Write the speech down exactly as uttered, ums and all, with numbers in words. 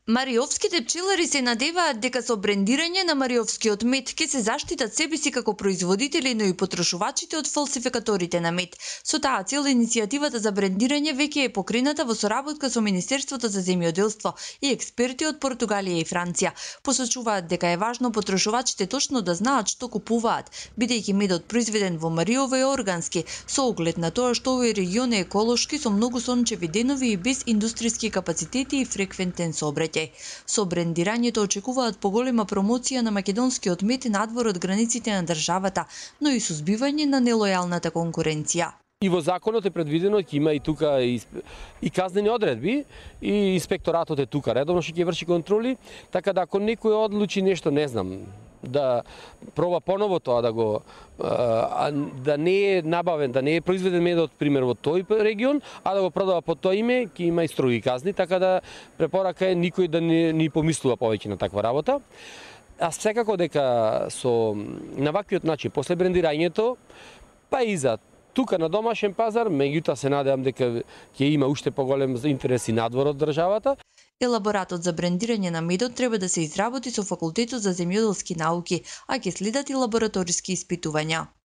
Мариовските пчелари се надеваат дека со брендирање на мариовскиот мед ќе се заштитат себе си како производители, но и потрошувачите од фалсификаторите на мед. Со таа цел иницијативата за брендирање веќе е покрената во соработка со Министерството за земјоделство и експерти од Португалија и Франција. Посочуваат дека е важно потрошувачите точно да знаат што купуваат, бидејќи медот произведен во Мариово е органски, со оглед на тоа што овој регион е еколошки со многу сончеви денови и без индустријски капацитети и фреквентен сообраќај. Со брендирањето очекуваат поголема промоција на македонскиот мед надвор од границите на државата, но и сузбивање на нелојалната конкуренција. И во законот е предвидено ќе има и тука и, и казнени одредби, и инспекторатот е тука редовно што ќе врши контроли, така да ако некој одлучи нешто, не знам, да проба поново тоа да го а, да не е набавен, да не е произведен медот пример во тој регион, а да го продава под тоа име, ќе има и строги казни, така да препорака е никој да не ни помислува повеќе на таква работа. А секако дека со на ваквиот начин после брендирањето, па и за тука на домашен пазар, меѓутоа се надевам дека ќе има уште поголем интерес и надвор од државата. Елаборатот за брендирање на медот треба да се изработи со Факултетот за земјоделски науки, а ќе следат и лабораториски испитувања.